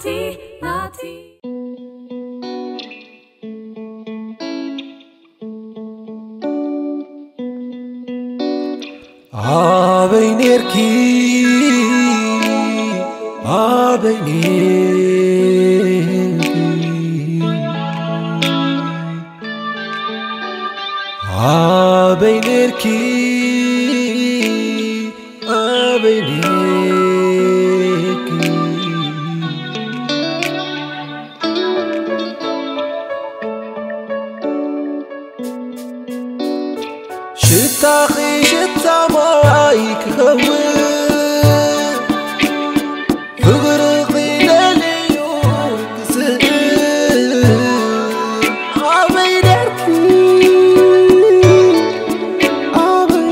ናቲ ናቲ ኣበይ ኔርኪ ኣበይ ኔርኪ ኣበይ ኔርኪ ኣበይ ኔርኪ ሽታኺ ሽታ ማይ ክኸውን ፍቕርኺ ለልዩ ክስእል ኣበይ ደርኪ ኣበይ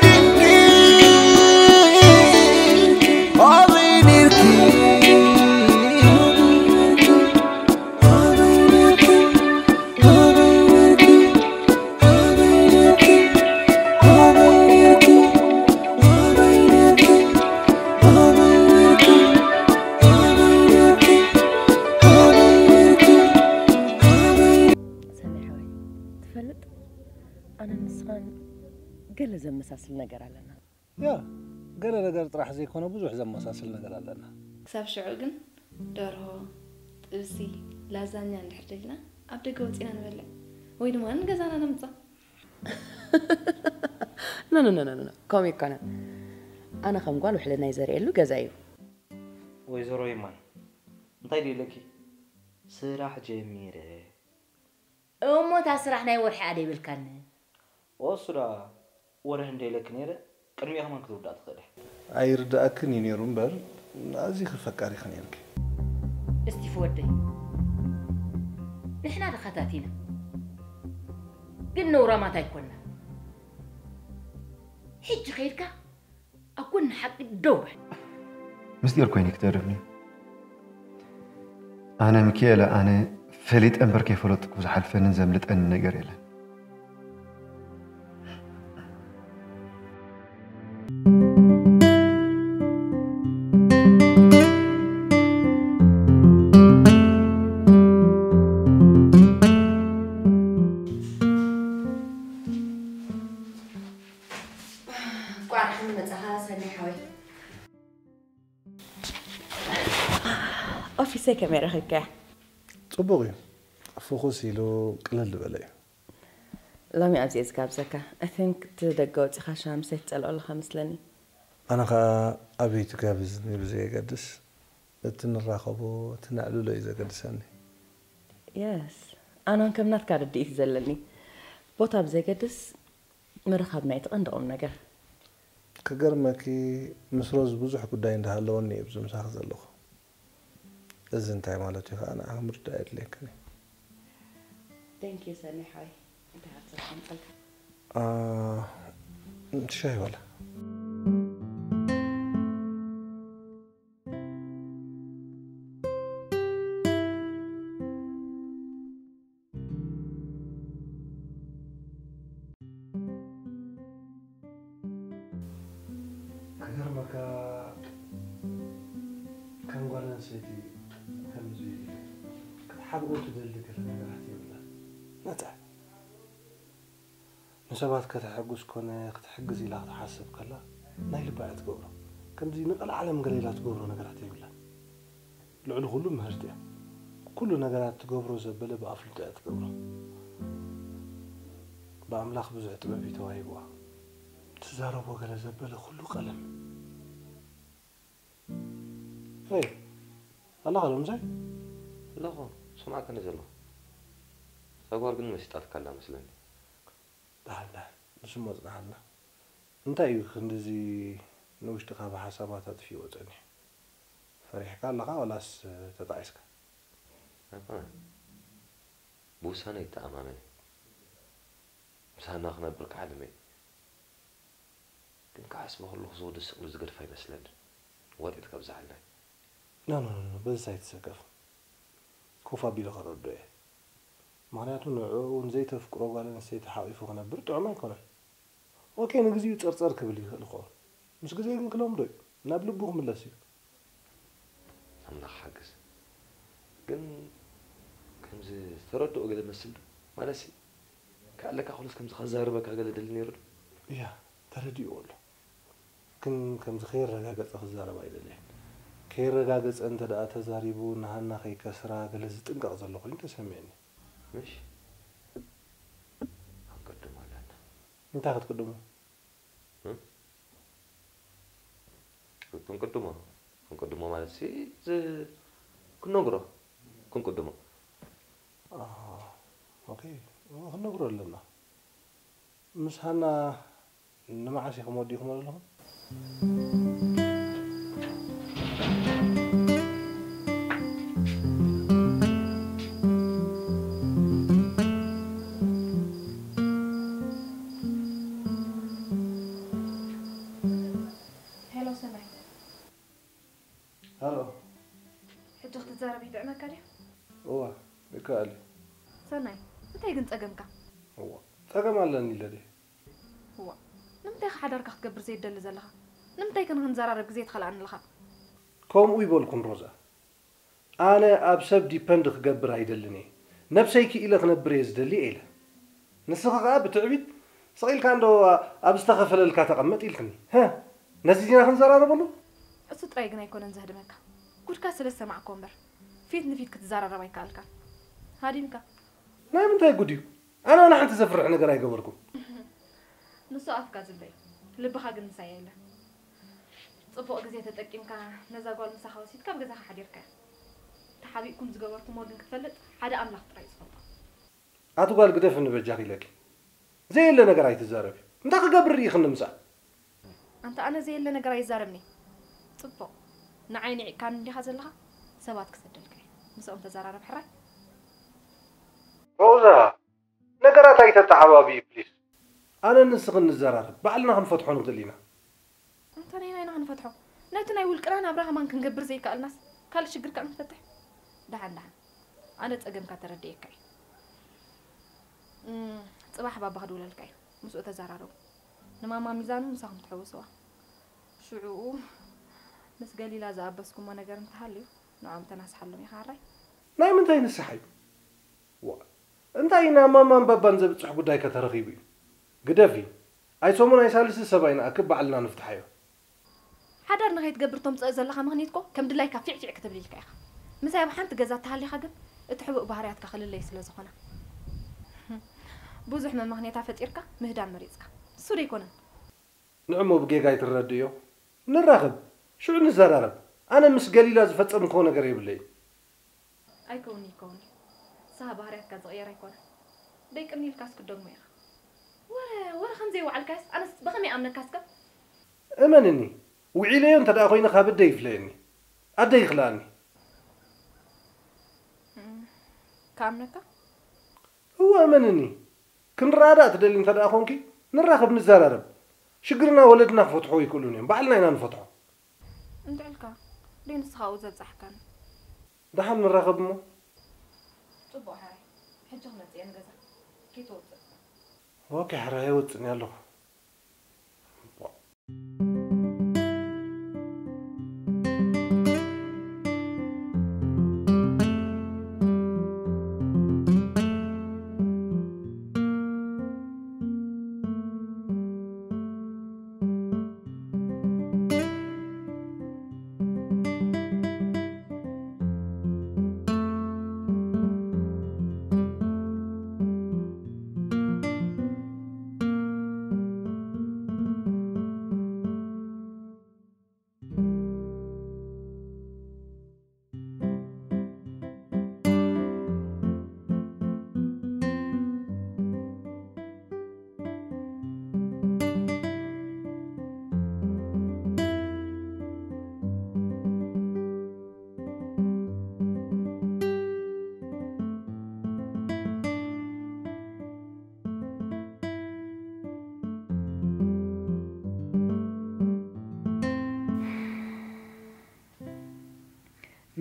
ደርኪ ኣበይ ደርኪ ኣበይ ደርኪ ሰኒ ሓወይ፣ ትፈልጥ ኣነ ንስኻን ገለ ዘመሳስል ነገር ኣለና። ያ ገለ ነገር ጥራሕ ዘይኮነ ብዙሕ ዘመሳስል ነገር ኣለና። ክሳብ ሽዑ ግን ደርሆ፣ ጥብሲ፣ ላዛኛ እንድሕር ደሊና ኣብ ደገ ወጺና ንበልዕ ወይ ድማ ንገዛና ነምጽኣ። ኖ ኖ ኖ ኖ ከምኡ ይኮነን። ኣነ ከም ጓል ውሕልና እዩ ዘርእየሉ ገዛ እዩ። ወይዘሮ ይማን እንታይ ድዩ ኢለኪ? ስራሕ ጀሚረ። እሞ እታ ስራሕ ናይ ወርሒ ኣደ ይብልካኒ። ኦሱ ደኣ ወርሒ እንደ ኢለኪ ነይረ ቅድሚኡ ከማን ክትውዳእ ትኽእሊ። ኣይርድኣክን እዩ ነይሩ እምበር ኣዚኺ ፈቃሪኺ ነይርኪ። እስቲፍ ወደይ ንሕና ድኻታት ኢና ግን ነውራማት ኣይኮና። ሕጂ ኸይድካ ኣብ ጎኒ ሓቂ ደው በል። ምስጢር ኮይኑ ክተርፍኒ። ኣነ ሚኪኤለ ኣነ ፈሊጠ እምበር ከይፈለጥኩ ዝሓልፈንን ዘምልጠንን ነገር የለን። ቋርሕን መጻኻ ሰኒ ሓወይ። ኦፊሰይ ከመይ ረኺብካያ? ጽቡቕ እዩ። ፍኹስ ኢሉ ቅልል ዝበለ እዩ። ሎሚ ኣብዚ እየ ዝጋብዘካ። I think እቲ ደገ ወጺኻ ሻምሰይ ትጸልኦ ኣለኻ መስለኒ። ኣነ ኸኣ ኣበይ ትጋብዝኒ ብዘየገድስ እቲ ንራኸቦ እቲ ነዕልሎ እዩ ዘገድሰኒ። የስ ኣነውን ከም ናትካ ርድኢት ዘለኒ ቦታ ብዘገድስ ምርኻብ ናይቲ ቀንዲ ቁም ነገር። ክገርመኪ ምስ ሮዝ ብዙሕ ጉዳይ እንዳሃለወኒ እየ ኣብዚ ምሳኺ ዘለኹ። እዚ እንታይ ማለት እዩ ከዓ ንዓኺ ምርዳእ የድልየክን እዩ። Thank you ሰኒ ሓወይ እንታይ ሃብተካ ምፀልካ ሻሂ ዋላ ክገርመካ ከም ጓል ኣንስተይቲ ከምዚ ክትሓብኦ ትደሊ ገለ ነገራት የብላን። ነታ ንሰባት ከተሐጉስ ኮነ ክትሕግዝ ኢላ ክትሓስብ ከላ ናይ ልባ እያ ትገብሮ። ከምዚ ንቀልዓለም ገለ ኢላ ትገብሮ ነገራት የብላን። ልዕሊ ኩሉ ምህርቲ እያ። ኩሉ ነገራት ትገብሮ ዘበለ ብኣፍልጦ እያ ትገብሮ። ብኣምላኽ ብዙሕ ጥበብ እዩ ተዋሂብዋ። ትዛረቦ ገለ ዘበለ ኩሉ ቀለም እዩ። ሄይ ኣለኻ ዶ ምሳይ? ኣለኹ ሰምዓካ እንድየ ዘለኹ። እዛ ጓል ግን መሲጣትካ ኣላ መስለኒ። ደሓን ደሓን ንሱ እሞ ጽንሓልና። እንታይ እዩ ክንድዚ ንውሽጥኻ ብሓሳባት ኣጥፊእዎ ጸኒሑ? ፈሪሕካ ኣለኻ ዋላስ ተጣዒስካ? ኣይኮነን። ብውሳነ ይተኣማመን እየ። ምስ ሃና ክነብር ክሓልም እየ። ግን ክሓስቦ ከለኹ ዝወዲ ስቕ ኢሉ ዝገድፋ ይመስለኒ። ወጢጥ ከብዝሓልና እዩ። ኖ ኖ ኖ በዚ ኣይትሰከፍ። ኮፍ ኣቢለ ከረድኦ እየ። ምኽንያቱ ንዕኡ እውን ዘይተፍቅሮ ጓል ኣንስተይቲ ሓቒፉ ክነብር ጥዑም ኣይኮነን። ኦኬ ንግዚኡ ጸርጸር ክብል ይኽእል ይኸውን። ምስ ግዜ ግን ክለምዶ እዩ። ናብ ልቡ ክምለስ እዩ። ኣምላኽ ሓግዝ። ግን ከምዚ ዝተረድኦ ገለ መስል ዶ? ማለትሲ፣ ክኣለካ ኩሉስ ከምዚ ከዛርበካ ገለ ደሊ ነይሩ ዶ? እያ፣ ተረዲእዎ ኣሎ። ግን ከምዚ ከየረጋገጸ ክዛረብ ኣይደለየን። ከየረጋገጸ እንተ ደኣ ተዛሪቡ ንሃና ከይከስራ ገለ ዝጥንቀቕ ዘሎ ኮይኑ ተሰሚዕኒ። ምሽ? ኣንቀድሞ ኣለና። እንታይ ክትቅድሙ? ክንቅድሞ ክንቅድሞ ማለት ሲ ዝ- ክንነግሮ ክንቅድሞ ኦኬ፣ ክንነግሮ ኣለና። ምስ ሃና ንመዓስ ኢኹም ወዲእኹም ኣለኹም? ሄሎ ሰናይ፣ ሃሎ፣ ሕጂ ክትዛረብ ይጥዕመካ ድዩ? እዋ፣ ይከኣል እዩ። ሰናይ፣ እንታይ ግን ጸገምካ? እዋ፣ ጸገም ኣለኒ ኢለ ድየ? እዋ፣ ንምንታይ ኢኻ ሓዳርካ ክትገብር ዘይትደሊ ዘለኻ? ንምንታይ ከ ንኽንዘራረብ ግዜ ትኸልኣኒ ኣለኻ? ከምኡ ይበልኩን ሮዛ። ኣነ ኣብ ሰብ ዲፐንድ ክገብር ኣይደልን እየ። ነብሰይ ክኢለ ክነብር እየ ዝደሊ እየ ኢለ። ንስኺ ኸኣ ብትዕቢት ስቕ ኢልካ እንዶ ኣብ ዝተኸፈለልካ ተቐመጥ ኢልክኒ። ሀ፣ ነዚ ዲና ክንዘራረበሉ? እሱ ጥራይ ግን ኣይኮነን ዘህድመካ። ጉድካ ስለ ዝሰማዕክዎ እምበር ፊት ንፊት ክትዘራረብ ኣይከኣልካን። ሃዲምካ። ናይ ምንታይ ጉድ እዩ? ኣነ ዋላ ሓንቲ ዘፍርሕ ነገር ኣይገበርኩን። ንሱ ኣፍካ ዝብሎ እዩ፣ ልብኻ ግን ምሳይ የለን። ጽቡቕ ግዜ ተጠቂምካ ነዛ ጓል ምሳኻ ወሲድካ ኣብ ገዛኻ ሓዲርካያ። ተሓቢእኩም ዝገበርኩምዎ ግን ክትፈልጥ ሓደ ኣምላኽ ጥራይ እዩ ዝፈልጦ። ኣቲ ጓል ግደፍኒ በጃኺ ኢለኪ። ዘየለ ነገር ኣይትዛረቢ። እንታይ ክገብር ርኢኽኒ ምሳኣ? ኣንታ ኣነ ዘየለ ነገር ኣይዛረብን'የ። ጽቡቕ ንዓይ ንዒቕካኒ እንዲኻ ዘለኻ? ሰባት ክሰደልካ እየ። ምስኦም ተዘራረብ ሕራይ። ሮዛ፣ ነገራት ኣይተተዓባብዪ ፕሊስ። ኣነን ንስኽን ንዘራረብ፣ ባዕልና ክንፈትሖ ንኽእል ኢና። ኣንታ ነየናይ ኢና ክንፈትሖ? ነቲ ናይ ውልቅና ናብራ ከማን ክንገብር ዘይከኣልናስ ካልእ ሽግር ከኣ ንፈትሕ? ደሓን ደሓን ኣነ ጸገምካ ተረዲኤካ እየ። እም፣ ጽባሕ ባባ ክድውለልካ እዩ። ምስኡ ተዘራረቡ። ንማማ ሚዛኑ ምሳኹም ትሕውስዋ። ሽዑኡ ምስ ገሊላ ዝኣበስኩሞ ነገር እንተሃልዩ ንዕኦም ተናስሓሎም ኢኻ ሕራይ። ናይ ምንታይ ንስሓ እዩ? ዋ፣ እንታይ ኢና ማማን ባባን ዘብጽሕ ጉዳይ ከተረኺቡ እዩ? ግደፊ። ኣይ ሰሙን ኣይ ሳልሲ ሰብ ኣይንኣክብ ባዕልና ንፍትሓዮ። ሓዳር ንኸይትገብር ተምጽኦ ዘለኻ ምኽንያት እኮ ከም ድላይካ ፊዕ ፊዕ ክትብል ኢልካ ኢኻ። ምሳይ ኣብ ሓንቲ ገዛ ተሃሊኻ ግን እቲ ሕቡእ ባህርያትካ ክልለይ ስለ ዝኾነ ብዙሕ መመኽንያታ ፈጢርካ ምህዳም መሪጽካ። እሱ ዶ ኣይኮነን? ንዕሞ ብጌጋ ኣይትረድእዮ። ንራኸብ፣ ሽዑ ንዘራረብ። ኣነ ምስ ገሊላ ዝፈጸምክዎ ነገር የብለይን። ኣይከውንይ ይከውንይ። ንስኻ ባህርያትካ ዝቕየር ኣይኮነን። ደይቅኒ ኢልካስ ክትደግሞ ኢኻ። ወረ ወረ ከም ዘይወዓልካዮስ ኣነስ ብኸመይ ኣምነካ እስከ? እመንኒ፣ ውዒለዮ እንተ ደኣ ኮይነ ካብ ኣደይ ይፍለየኒ። ኣደይ ይኽልኣኒ። ክኣምነካ? እወ እመንኒ። ክንረኣዳእ ትደሊ እንተ ደኣ ኾንኪ ንራኸብ ንዘራረብ። ሽግርና ወለድና ክፈትሕዎ ኣይክእሉን እዮም። ባዕልና ኢና ንፈትሖ። እንድዕልካ ደይ ንስኻ ኣብኡ ዘብጻሕካኒ። ደሓን ንራኸብ እሞ። ጽቡቕ ሕራይ። ሕጂ ክመጽእ እየ ንገዛ። ከይትወጽእ። ኦኬ ሕራይ ኣይወጽእን እየ ኣለኹ።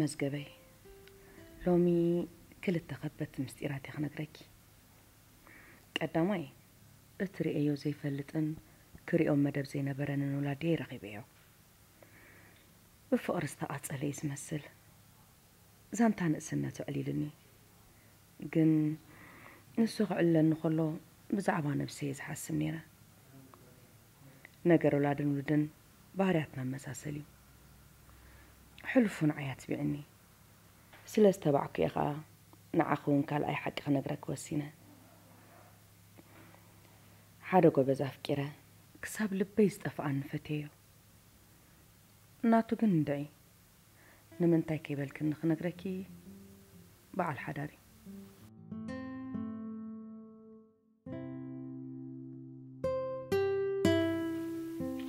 መዝገበይ፣ ሎሚ ክልተ ከበድቲ ምስጢራት እየ ክነግረኪ። ቀዳማይ፣ እትርእየዮ ዘይፈልጥን ክርእዮም መደብ ዘይነበረንን ውላድየይ ረኺበዮ። ብፍቕሪ ዝተቓጸለ እዩ ዝመስል። ዛንታ ንእስነቱ ኣዕሊሉኒ። ግን ንሱ ክዕልለኒ ከሎ ብዛዕባ ነብሰይ እየ ዝሓስብ ነይረ። ነገር ወላድን ውሉድን ባህርያትና መሳሰል እዩ። ሕሉፉ ንዓይ ኣትቢዕኒ። ስለ ዝተባዕኩ እየ ኸኣ ንዓኺ እውን ካልኣይ ሓቂ ክነግረኪ ወሲነ። ሓደ ጎበዝ ኣፍቂረ፣ ክሳብ ልበይ ዝጠፍኣኒ ፈትየዮ። ናቱ ግን እንድዒ። ንምንታይ ከይበልክኒ ክነግረኪ በዓል ሓዳር እዩ።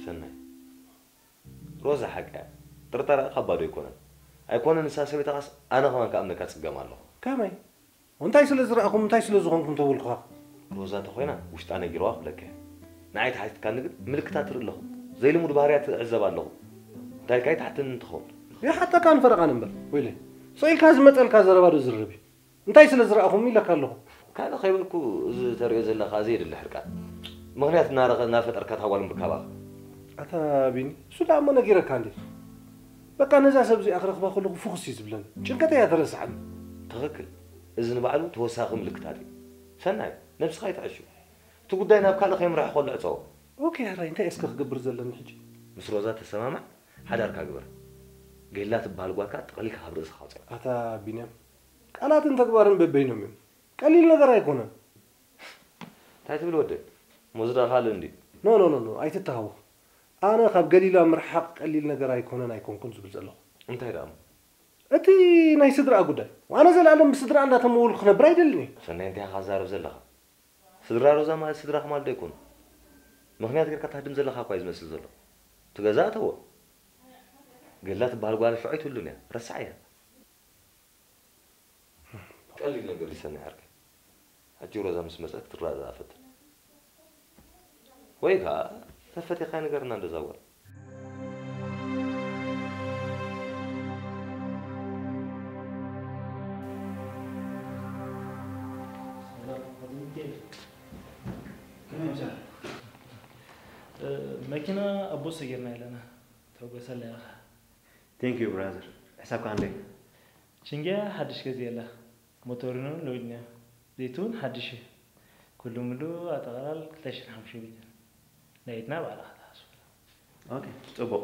ሰናይ፣ ሮዛ ሓቂ እያ። ጥርጠራ ካብ ባዶ ኣይኮነን። ኣይኮነን ንሳ ሰበይታኻስ ኣነ ከማን ክኣምነካ ጽገም ኣለኹ። ከመይ? እንታይ ስለ ዝረኣኹም እንታይ ስለ ዝኾንኩም ተበልኩኻ? ሮዛ እንተኾይና ውሽጣ ነጊርዋ ክብለካ እየ። ንዓይ ተሓቲትካኒ ግን ምልክታት እርኢ ኣለኹ። ዘይልሙድ ባህርያት እዕዘብ ኣለኹ። እንታይ ኢልካ ይትሓተኒ እንትኸውን? ይሓተካን ፈረቓን እምበር ወይለይ። ስቕ ኢልካ ዝመጸልካ ዘረባ ዶ ዝርርብ እዩ? እንታይ ስለ ዝረኣኹም ኢለካ ኣለኹ። ካልእ ከይበልኩ እዚ ተርእዮ ዘለኻ ዘየድሊ ሕርቃን ምኽንያት እናረኸ እናፈጠርካ እታ ጓል ምርካባኻ። ኣታ ቢኒ እሱ ደኣ እሞ ነጊረካ እንዴ። በቃ ነዛ ሰብ እዚኣ ክረኽባ ከለኹ ፍኹስ እዩ ዝብለኒ። ጭንቀተይ እያ ተረስዓኒ። ትኽክል። እዚ ንባዕሉ ተወሳኺ ምልክታት እዩ። ሰናይ፣ ነብስኻ ኣይትዕሹ። እቲ ጉዳይ ናብ ካልእ ከየምርሐ ከሎ ዕጸዎ። ኦኬ ሕራይ እንታይ እስከ ክገብር ዘለኒ ሕጂ? ምስ ሮዛ ተሰማማዕ፣ ሓዳርካ ግበር። ገላ ትበሃል ጓልካ ጠቕሊልካ ካብ ርእስኻ ኣውፅኣ። ኣታ ቢንያም ቃላትን ተግባርን በበይኖም እዮም። ቀሊል ነገር ኣይኮነን። እንታይ ትብል ወደይ? መወዝዳ ካልእ እንድዩ። ኖ ኖ ኖ ኖ ኣይትተሃወኽ። ኣነ ካብ ገሊላ ምርሓቕ ቀሊል ነገር ኣይኮነን ኣይኮንኩን ዝብል ዘለኹ። እንታይ ደኣ እሞ? እቲ ናይ ስድራኣ ጉዳይ። ኣነ ዘላለም ብስድራኣ እንዳተመወልኩ ክነብር ኣይደልን እየ። ሰናይ እንታይ ኢኻ ትዛረብ ዘለኻ? ስድራ ሮዛ ማለት ስድራኻ ማለት ዶ ኣይኮኑ? ምኽንያት ጌርካ ትሃድም ዘለኻ እኳ እዩ ዝመስል ዘሎ። እቲ ገዛ እተዎ። ገላ ትበሃል ጓል ሽዑ ኣይትህሉን እያ። ረስዓያ። ቀሊል ነገር ይሰንሕ ዓርከይ። ሕጂ ሮዛ ምስ መጸት ክትረዳዳኣ ፈትን። ወይ ከኣ ተፈቲኻ ንገርና እንደዛ ጓል። መኪና ኣቦ ሰጊርና ኣለና። ተበገሰላ ኢኻ። Thank you brother። ሕሳብካ ክንደይ? ሽንግያ ሓድሽ ገዚኤላ። ሞቶሪን እውን ለዊጥናዮ። ዘይቱ እውን ሓድሽ እዩ። ኩሉ ምሉ ኣጠቓላል ክልተ ሽሕን ሓሙሽተ ሚእትን። ናይ ኢድና ባዕልኻ ትሓስበላ። ኦኬ፣ ጽቡቕ።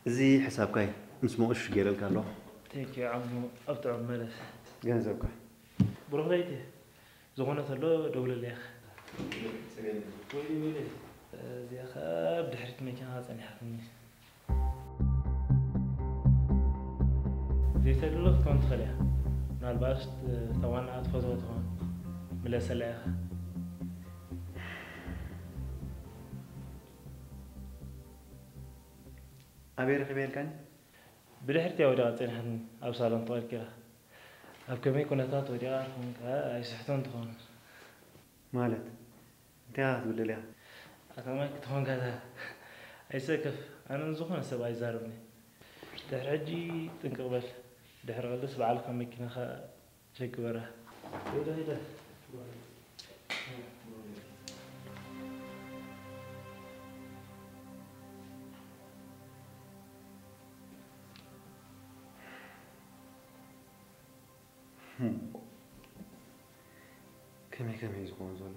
እዚ ሕሳብካ እዩ። ምስ መቑሽ ገይረልካ ኣለኹ። Thank you ዓሙ ኣብ ጥዑም መለስ። ገንዘብካ። ብሩኽ ለይቲ። ዝኾነ ተሎ ደውለለይ ኢኻ። ወይለይ ወይለይ። እዚኣ ኸኣ ብድሕሪት መኪና ጸኒሓትኒ። ዘይተድሎ ክትኮን ትኽእል እያ። ምናልባት እታ ዋናኣ ትፈትዎ ትኾን። ምለሰላ ኢኻ። ኣበይ ረኺበ ኢልካኒ? ብድሕሪት እያ ወዲቓ ጸኒሓትኒ፣ ኣብ ሳሎን ተቐልቂላ። ኣብ ከመይ ኩነታት ወዲቓ ትኾን ከኣ ኣይስሕቶን ትኾን። ማለት እንታይ ክትብል ደሊኻ? ኣታ ማይክ ትኾን ከኣ ኣይሰከፍ፣ ኣነ ንዝኾነ ሰብ ኣይዛረብን እየ። ድሕሪ ሕጂ ጥንቅቕ በል። ድሕሪ ቀልድስ ባዕልኻ መኪናኻ ቸክ ግበራ። ሂደ ሂደ። ከመይ ከመይ እዩ ዝኸውን ዘሎ?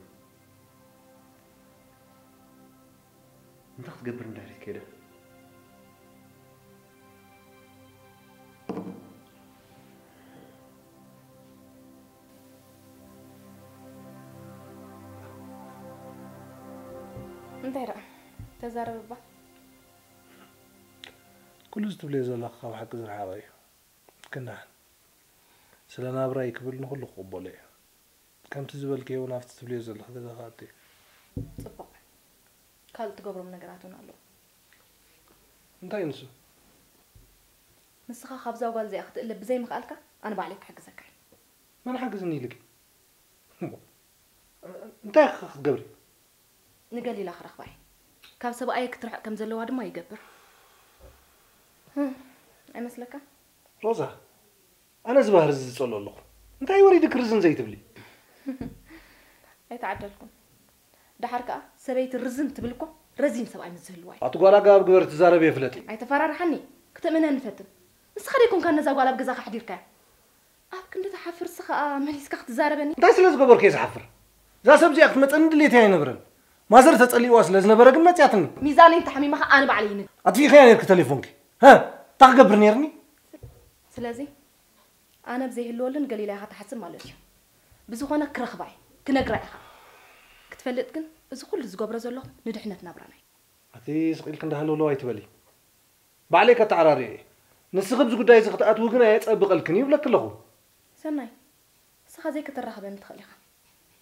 እንታይ ክትገብር ንድሕሪት ከይዳ? እንታይ ደኣ ተዛረብ እባ። ኩሉ እዚ ትብልዮ ዘለኺ ካብ ሓቂ ዝረሓቐ እዩ። ክንደሓን ስለ ናብራይ ክብል ንኹሉ ክቕበሎ እየ። ከምቲ ዝበልክዮ እውን ኣብቲ ትብልዮ ዘለኺ ገዛ ክኣቱ እየ። ጽቡቕ። ካልእ ትገብሮም ነገራት እውን ኣለዉ። እንታይ ንሱ? ንስኻ ካብዛ ጓል እዚኣ ክትእለ ብዘይምኽኣልካ ኣነ ባዕለይ ክሕግዘካ እየ። መን ሓግዝኒ ኢልኪ? እሞ እንታይ ኢኺ ክትገብሪ? ንገሊላ ክረኽባ እየ። ካብ ሰብኣየ ክትርሕቕ ከም ዘለዋ ድማ ይገብር። ኣይመስለካ? ሮዛ፣ ኣነ እዚ ባህሪ እዚ ዝጸልኦ ኣለኹ። እንታይ ወሪድክ ርዝን ዘይትብሊ? ኣይተዓደልኩን። ደሓር ከኣ ሰበይቲ ርዝን ትብል እኮ ረዚን ሰብኣይ ምስ ዝህልዋ እዩ። ኣቲ ጓል ኣገባብ ግበር ትዛረብ የፍለጥ እዩ። ኣይተፈራርሓኒ፣ ክትእምነኒ ፈትን። ንስኻ ደይኮንካ ነዛ ጓል ኣብ ገዛኻ ኣሕዲርካያ? ኣብ ክንዲ ትሓፍር ንስኻ ከኣ መሊስካ ክትዛረበኒ? እንታይ ስለ ዝገበርኩ እየ ዝሓፍር? እዛ ሰብ እዚኣ ክትመጸኒ ድሌት ኣይነበረን። ማዘር ተጸሊእዋ ስለ ዝነበረ ግን መጽያትኒ። ሚዛነይ እንተሓሚማ ከኣ ኣነ ባዕለይ ይንግ። ኣጥፊእካያ ነርኪ ተሌፎንኪ። ሃ? እንታይ ክገብር ነርኒ? ስለዚ ኣነ ብዘይህልወሉ ንገሊላ ኢኻ ትሓስብ ማለት እዩ። ብዝኾነ ክረኽባ እየ፣ ክነግራ ኢኻ። ክትፈልጥ ግን እዚ ኩሉ ዝገብሮ ዘለኹ ንድሕነት ናብራና እዩ። ኣቲ ስቕ ኢልኪ እንዳሃለውለው ኣይትበሊ። ባዕለይ ከተዓራርዮ እየ። ንስኺ ኣብዚ ጉዳይ እዚ ክትኣትዊ ግን ኣየጸብቐልክን እዩ ይብለኪ ኣለኹ። ሰናይ፣ ንስኻ ዘይክትራኸበኒ ትኽእል ኢኻ።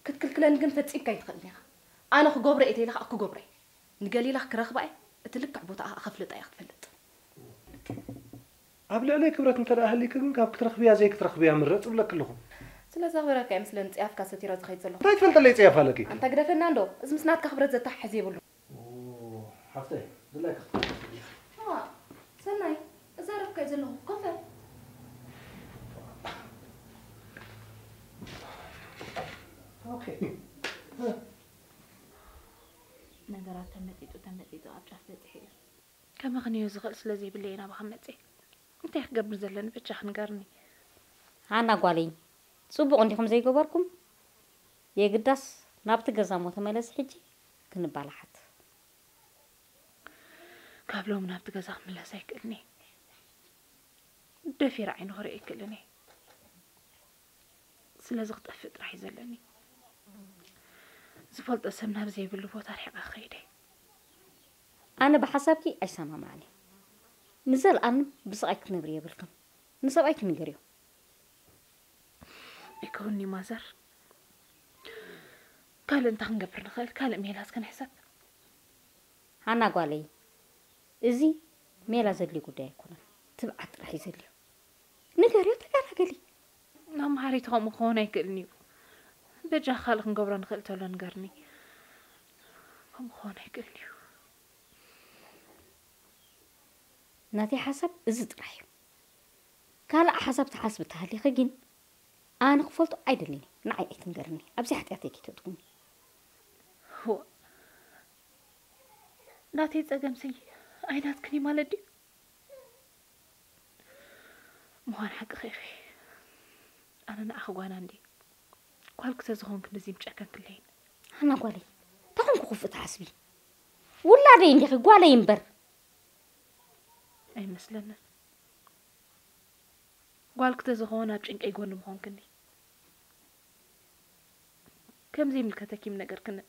ክትክልክለኒ ግን ፈጺምካ ኣይትኽእልን ኢኻ። ኣነ ክገብሮ እየ ተይለ ኸኣ ክገብሮ እየ። ንገሊላ ክረኽባ እየ፣ እቲ ልክዕ ቦታኣ ኸኣ ከፍልጣ እየ ክትፈልጥ። ኣብ ልዕለይ ክብረት እንተ ደኣ ሃልይኪ ግን ካብ ክትረኽብያ ዘይክትረኽብያ ምረጽ እብለኪ ኣለኹ። ስለ ዘኽብረካ እየ ምስለን ጽያፍካ ሰቲረ ዝኸይድ ዘለኹ። እንታይ ትፈልጠለይ ጽያፍ ኣለኪ? ኣንታ ግደፈና እንዶ፣ እዚ ምስ ናትካ ክብረት ዘተሓሕዝ የብሉን። ኦ፣ ሓፍተይ፣ ድላይካ ክትከፍል ትኽእሊ ኢኺ። እዋ፣ ሰናይ፣ እዛረብካ እየ ዘለኹ። ኮፈ። ኦኬ። ነገራት ተመጢጡ ተመጢጡ ኣብ ጫፍ በጺሑ እዩ። ከመኽንዮ ዝኽእል ስለ ዘይብለይ ናባኻ መጽእ። እንታይ ክገብር ዘለኒ በጃኺ ንገርኒ። ሃና ጓለይ፣ ጽቡቕ እንዲኹም ዘይገበርኩም? የግዳስ ናብቲ ገዛ እሞ ተመለሲ ሕጂ ክንባላሓት። ካብ ሎሚ ናብቲ ገዛ ክምለስ ኣይክእልን እየ። ደፊረ ዓይኑ ክርኢ ኣይክእልን እየ። ስለዚ ክጠፍእ ጥራሕ እዩ ዘለኒ። ዝፈልጦ ሰብ ናብ ዘይብሉ ቦታ ርሒቐ ክኸይድ እየ። ኣነ ብሓሳብኪ ኣይሰማማዕን እየ። ንዘለኣለም ብስቓይ ክትነብሪ የብልክን። ንሰብኣይኪ ንገርዮ። ኣይከውንኒ ማዘር። ካልእ እንታይ ክንገብር ንኽእል? ካልእ ሜላ እስከ ንሕሰብ። ሃና ጓለይ፣ እዚ ሜላ ዘድልዮ ጉዳይ ኣይኮነን። ትብዓት ጥራሕ እዩ ዘድልዮ። ንገርዮ፣ ተገላገሊ። መምሃሪት ከምኡ ክኸውን ኣይክእልን እዩ። በጃኻ ካልእ ክንገብሮ ንኽእል ተሎ ንገርኒ። ከምኡ ክኸውን ኣይክእልን እዩ። ናተይ ሓሳብ እዚ ጥራሕ እዩ። ካልእ ሓሳብ ትሓስቢ ተሃሊኺ ግን ኣነ ክፈልጦ ኣይደልን እየ። ንዓይ ኣይትንገርኒ። ኣብዚ ሓጢኣተይ ከይተእትውኒ። እዋ፣ ናተይ ጸገምሲ ኣይናትክን እዩ ማለት ድዩ? ምዃን ሓቅኺ ኢኺ። ኣነ ንዓኺ ጓና እንድየ። ጓልኪ ተዝኾንኪ እንደዚ ምጨከንክለይን። ኣና ጓለይ፣ እንታይ ኮንኩ ክፉእ ትሓስቢ? ውላደይ እንዲኺ፣ ጓለይ እምበር። ኣይመስለንን። ጓልኪ ተዝኸውን ኣብ ጭንቀይ ጎኒ ምኾንክኒ። ከም ዘይምልከተኪ ምነገርክንን።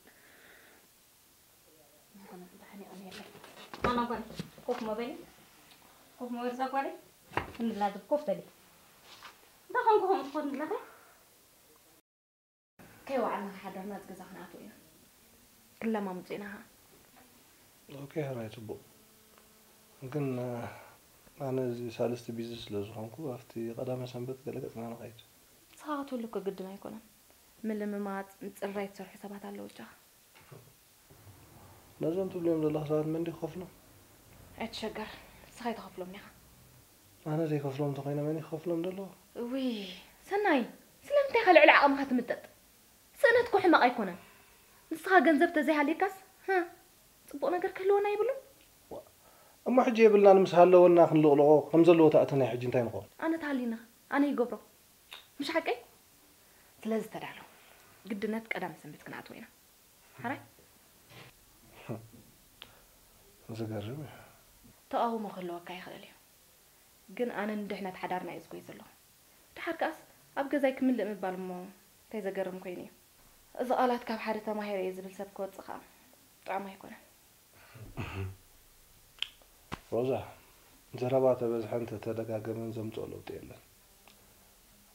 ኣና ጓል፣ ኮፍ ሞ በሊ። ኮፍ ሞ በሊ፣ እዛ ጓለይ። እንድላ ኮፍ በሊ። እንታይ ኮንኩ ከምኡ ትኾን ዘለኺ? ከይወዓልና ሓደርና፣ እዚ ገዛ ክንኣትዎ ኢና። ክለማምጹ ኢና ኸዓ። ኦኬ፣ ሕራይ፣ ጽቡቕ። ግን፣ እ፣ ኣነ እዚ ሳልስቲ ቢዚ ስለ ዝኾንኩ፣ ኣብቲ ቀዳመ ሰንበት ገለ ገጽና ንኸይድ። ንስኻ ክትህሉ እኮ ግድን ኣይኮነን። ምልምማጽ፣ ምጽርራይ ትሰርሑ ሰባት ኣለዉ፣ ብቻኻ። ነዞም ትብልዮም ዘለኹ ሰባት መን ድዩ ክኸፍሎም? ኣይትሸገር፣ ንስኻ ኣይትኸፍሎም ኢኻ። ኣነ ዘይከፍሎም እንተኾይነ መን እዩ ክኸፍሎም ዘለዎ? እውይ፣ ሰናይ፣ ስለምንታይ ኢኻ ልዕሊ ዓቕምኻ ትምጠጥ? ስእነት እኮ ሕማቕ ኣይኮነን። ንስኻ ገንዘብ ተዘይሃልየካስ፣ ህ፣ ጽቡቕ ነገር ክህልወና የብሉን። እሞ ሕጂ የብልናን፣ ምስ ሃለወና ክንልቕልቖ፣ ከም ዘለዎ ተኣተና ሕጂ እንታይ ንኸውን? ኣነ ተሃልዩኒ፣ ኣነ ይገብሮ። ምሽ ሓቀይ? ስለዚ ተዳሎ። ግድነት ቀዳመ ሰንበት ክንኣትዎ ኢና። ሓራይ? ዝገርም እዩ። ተቓውሞ ክህልወካ ይኽእል እዩ። ግን ኣነ ንድሕነት ሓዳርና እየ ዝጎይ ዘለኹ። ደሓር ከኣስ ኣብ ገዛይ ክምልእ ምባል እሞ እንታይ ዘገርም ኮይኑ እዩ። እዚ ቃላት ካብ ሓደ ተማሂረ እየ ዝብል ሰብ ክወጽእ ከኣ ጥዑም ኣይኮነን። ሮዛ፣ ዘረባ ተበዝሐን ተተደጋገመን ዘምጽኦ ለውጢ የለን።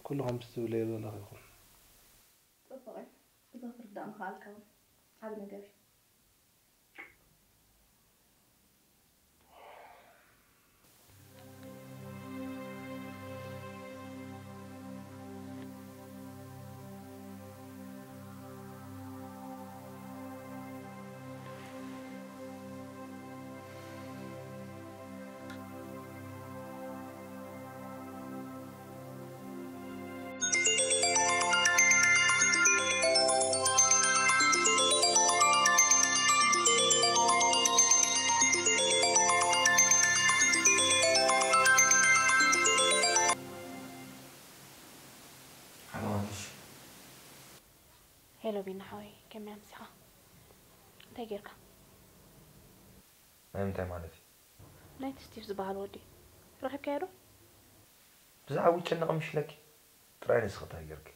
ኩሉ ከምቲ ትብለዮ ዘለኺ ይኹን። ጽቡቕ እዩ። እዚ ክትርዳእ ምኽኣልካ እውን ዓቢ ነገር እዩ። ሄሎ ቢና ሓወይ፣ ከመይ ኣምሲኻ? እንታይ ጌርካ? ናይ ምንታይ ማለት እዩ? ናይቲ ስቲቭ ዝበሃል ወዲ ረኺብካዮ ዶ? ብዛዕባ ይጨነቕ ምሽለኪ? ጥራይ ንስኺ እንታይ ጌርኪ?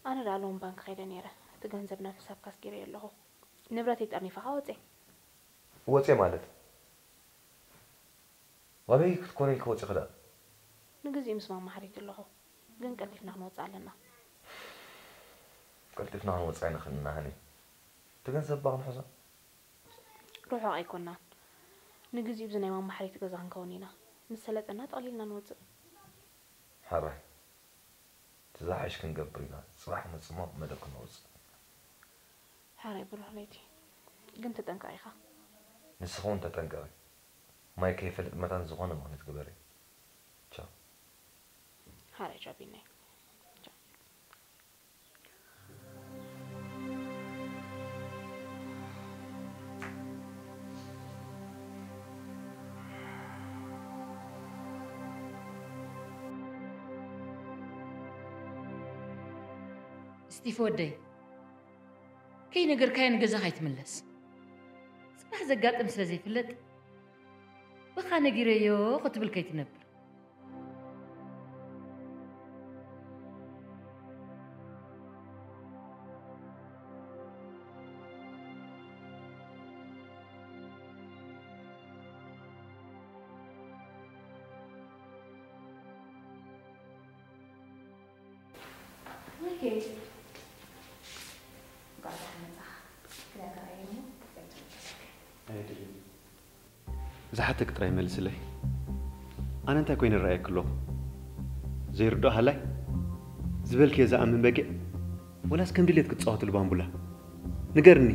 ኣነ ደኣ ሎሚ ባንክ ከይደ ነይረ። እቲ ገንዘብ ናብ ሕሳብካ ኣስጊረዮ ኣለኹ። ንብረተይ ጠርኒፈኻ ወፀ። ወፀ ማለት? ኣበይ ክትኮነ ኢልኪ ወፂኺ ደኣ? ንግዚኡ ምስ ማማ ሓሪት ኣለኹ፣ ግን ቀልጢፍና ክንወፅእ ኣለና። ቀልጢፍና ክንወፅእ ኣይንኽእልን ኢና ሃኒ። እቲ ገንዘብ እባ ክንሕዞ? ርሑቕ ኣይኮናን። ንግዚኡ ብዚ ናይ ማማ ሓሪት ገዛ ክንከውን ኢና። ምስ ሰለጠና ጠቕሊልና ንወፅእ። ሓራይ። እቲ ዝሓይሽ ክንገብር ኢና። ፅባሕ ንመፅእ እሞ መደብ ክንወፅእ። ሓራይ ብሩህ ለይቲ። ግን ተጠንቀቕ ኢኻ። ንስኺ እውን ተጠንቀቒ። ማይ ከይፈልጥ መታን ዝኾነ ምኽንያት ግበሪ። ቻው። ሓራይ ቻው ቢናይ። ቻው። ስቲፍ ወደይ፣ ከይነገርካዮ ንገዛኻ ኣይትምለስ። ጽባሕ ዘጋጥም ስለ ዘይፍለጥ፣ ብኻ ነጊረዮ ክትብል ከይትነብር። ዝሓተኪ ጥራይ መልስለይ። ኣነ እንታይ ኮይነ ይረኣየኪ ኣለኹ? ዘይርድኦ ሃላይ? ዝበልክዮ ዝኣምን በጊዕ? ወላስ ከም ድሌት ክትጻወትሉ ባምቡላ? ንገርኒ።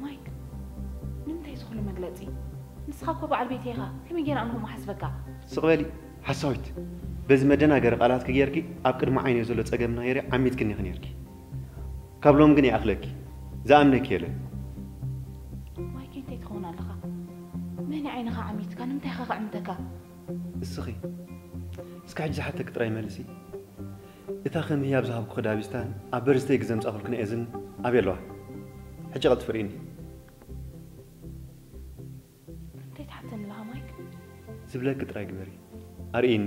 ማይክ፣ ንምንታይ ዝኹሉ መግለጺ? ንስኻ እኮ በዓል ቤተይ ኢኻ። ከመይ ገይረ ኣነ ከምኡ ሓስበካ? ስቕ በሊ ሓሳዊት። በዚ መደናገሪ ቃላትኪ ጌርኪ ኣብ ቅድሚ ዓይነይ ዘሎ ጸገም ናይረ ዓሚትክኒ ኢኺ ኔርኪ። ካብ ሎም ግን ይኣኽለኪ። ዝኣምነኪ የለን። ማይክ፣ እንታይ ትኸውን ኣለኻ? መን ዓይንኻ ዓሚትካ? ንምንታይ ኸ ክዕምተካ? እስኺ እስኪ ሕጂ ዝሓተኪ ጥራይ መልሲ። እታ ከም ህያብ ዝሃብኩኺ ዳቢስታን ኣብ በርዝተይ ግዘ ምጻእኩልክን እዝን ኣበይ ኣለዋ? ሕጂ ቀልጥፊ ርእይኒ። እንታይ ትሓተኒ ኣለኻ ማይክ? ዝብለኪ ጥራይ ግበሪ። ኣርእይኒ።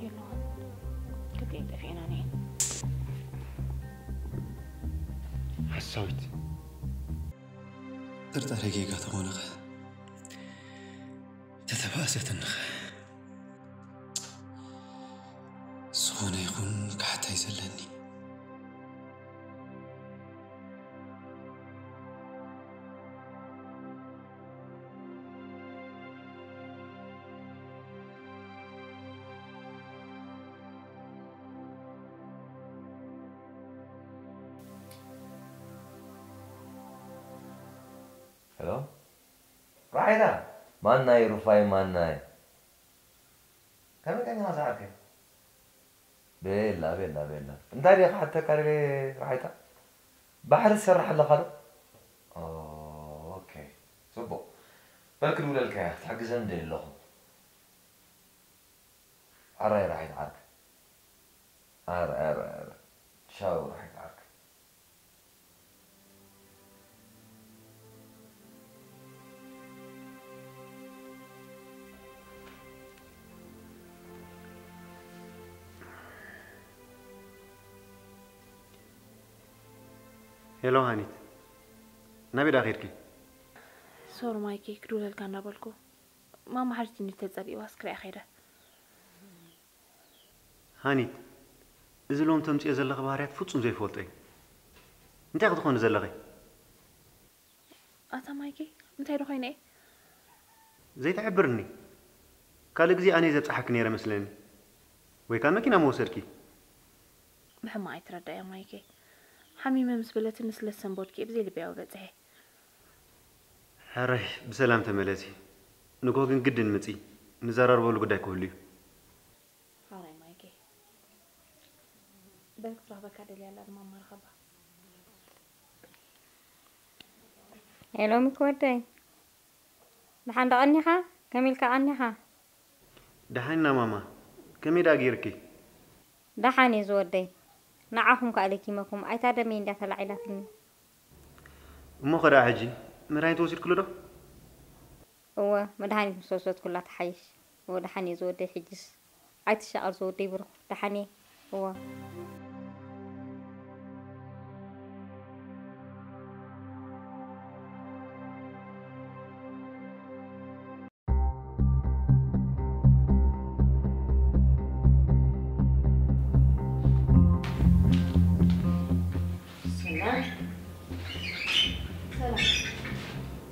የለዋን። ክልቲኤን ጠፊኤናን እየን። ሓሳዊት። ጥርጣረ ጌጋ ተኾነኸ? ተተባእሰትንኸ? ዝኾነ ይኹን ካሕታይ ዘለኒ። ሄሎ ራሒታ። ማናይ ሩፋይ ማናይ? ከመይ ቀኒኻ ዝዓርከይ? ቤላ ቤላ ቤላ። እንታይ ድየ ክሓተካ ደልየ ራሒታ? ባሕሪ ትሰርሕ ኣለኻ ዶ? ኦ፣ ኦኬ። ጽቡቕ። በል ክድውለልካ እየ፣ ክትሕግዘኒ ደልየ ኣለኹ። ኣራይ ራሒት ዓርከይ። ኣረ ኣረ ኣረ። ቻው ራሒት ዓርከይ። ሄሎ ሃኒት፣ ናበይ ደኣ ኸይድኪ? ሶሪ ማይኪ፣ ክድውለልካ እናበልኩ ማማ ሓሪትኒ ተጸሊእዋ እስክሪኣ ከይደ። ሃኒት፣ እዚ ሎም ተምጽዮ ዘለኺ ባህርያት ፍጹም ዘይፈልጦ እዩ። እንታይ ክትኾኒ ዘለኺ? ኣታ ማይኪ፣ እንታይ ዶ ኮይነ እየ? ዘይትሕብርኒ። ካልእ ግዜ ኣነ እየ ዘብጽሓኪ ነይረ መስለኒ። ወይ ከኣ መኪና ምወሰድኪ። ብሕማቕ ኣይትረዳያ ማይኪ። ሓሚመ ምስ በለትኒ ስለ ዝሰንበድኩ እየ ብዘይ ልበይ ኣብኡ በጺሐ። ሕራይ ብሰላም ተመለሲ። ንግሆ ግን ግድን ምጺ። ንዘራረበሉ ጉዳይ ክህሉ እዩ። ሓራይ ማይኪ። በል ክትረኽበካ ደልያ ኣላ ድማ እማ ርኸባ። ሄሎ ሚኪ ወደይ፣ ደሓን ዶ ቀኒኻ? ከመይ ኢልካ ቀኒኻ? ደሓን ኢና ማማ። ከመይ ደኣ ገይርኪ? ደሓን እየ ዝወደይ። ንዓኹም ከኣ ለኪመኩም ኣይታ ደመይ እንድያ ተላዒላትኒ። እሞ ኸ ደኣ ሕጂ መድሃኒት ወሲድክሉ ዶ? እወ፣ መድሃኒት ምስ ወሰድኩላ ትሓይሽ። እወ፣ ደሓን እየ ዝወደይ። ሕጅስ ኣይትሻቐል ዝወደይ ብሩኽ። ደሓን እየ። እወ። ሰላም። ሰላም።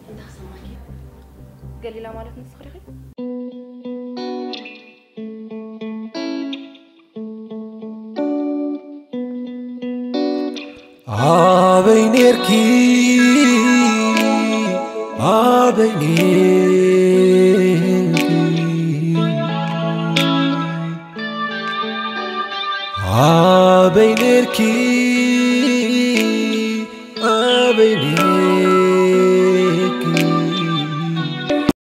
እንታይ ክሰማዕኪ? ገሊላ ማለት ንስኺ ዲኺ? ኣበይ ኔርኪ ኣበይ ኔርኪ ኣበይ ኔርኪ ኣበይ ኔርኪ